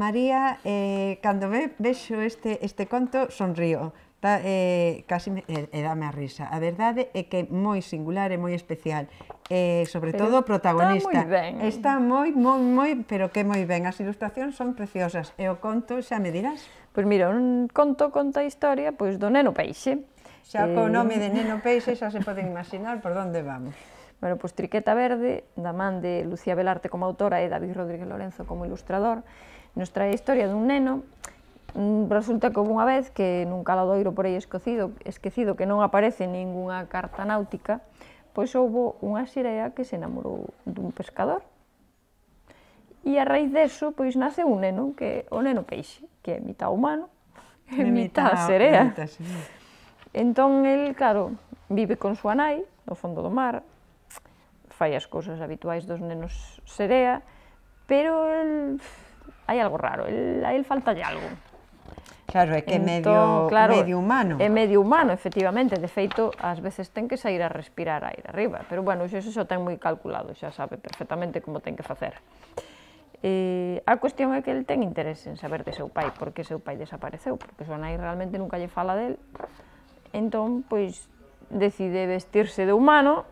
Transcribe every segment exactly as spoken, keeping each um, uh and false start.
María, eh, cando ve, vexo este, este conto, sonrío. Da, eh, casi me, e, e dame a risa. A verdade é que é moi singular e moi especial. Eh, sobre Pero todo o protagonista. Está moi ben. Está moi, moi, moi, pero que moi ben. As ilustracións son preciosas. E o conto, xa me dirás? Pois mira, un conto conta a historia pois, do Neno Peixe. Xa co nome de Neno Peixe xa se poden imaginar por onde vamos. Bueno, pois Triqueta Verde, da man de Lucía Velarte como autora e David Rodríguez Lorenzo como ilustrador, nos trae a historia dun neno. Resulta que houve unha vez que nun caladoiro por aí esquecido, esquecido que non aparece ningunha carta náutica, pois houve unha serea que se enamorou dun pescador. E a raíz deso, pois nace un neno, que é o Neno Peixe, que é mitad humano e mitad serea. Entón, el, claro, vive con súa nai, no fondo do mar, fai as cousas habituais dos nenos serea, pero el, hai algo raro, el, a el faltalle algo. Claro, é que é medio, claro, medio humano. É medio humano, efectivamente, de feito, ás veces ten que sair a respirar aire arriba, pero bueno, iso xa ten moi calculado, xa sabe perfectamente como ten que facer. Eh, a cuestión é que el ten interés en saber de seu pai, porque seu pai desapareceu, porque súa nai realmente nunca lle fala del, entón, pois, decide vestirse de humano,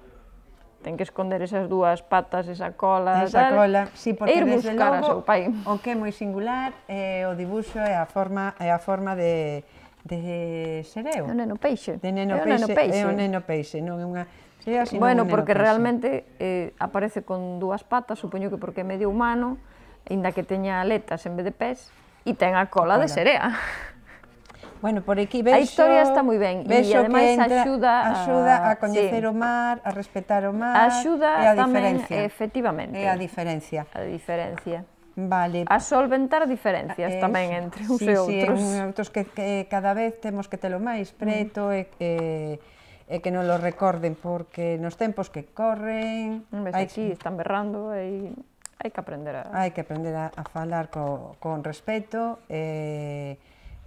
ten que esconder esas dúas patas, esa cola, esa tal, cola, sí, porque e ir desde buscar logo, a seu pai. O que é moi singular é o dibuixo e a forma, é a forma de, de sereo. É o Neno Peixe. De neno é o peixe, Neno Peixe. é o Neno Peixe, non é unha serea, sino bueno, un neno porque peixe. realmente eh, aparece con dúas patas, supoño que porque é medio humano, aínda que teña aletas en vez de pés, e ten a cola, a cola. de serea. Bueno, por aquí vexo... A historia está moi ben, e ademais axuda a... Axuda a coñecer sí. o mar, a respetar o mar, axuda e a tamén, diferencia. efectivamente. É a diferencia. A diferencia. Vale. A solventar diferencias es, tamén entre uns sí, e outros. Sí, sí, outros que, que cada vez temos que telo máis preto mm. e que... e que non lo recorden, porque nos tempos que corren... Ves, hai aquí que... están berrando e hai que aprender a... Hai que aprender a, a falar co, con respeto e...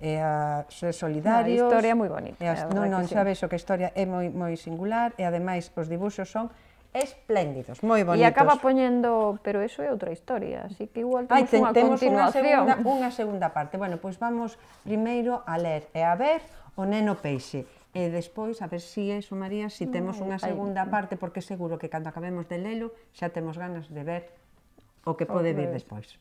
e a ser solidarios. A historia é moi bonita. E as, non, non, xa ves o que a historia é moi, moi singular e ademais os dibuxos son espléndidos, moi bonitos. E acaba poñendo, pero eso é outra historia, así que igual temos Ai, ten, unha temos continuación. Unha segunda, unha segunda parte. Bueno, pois vamos primeiro a ler e a ver o Neno Peixe. E despois, a ver si eso, María, si temos unha segunda parte, porque seguro que cando acabemos de lelo xa temos ganas de ver o que pode vir despois.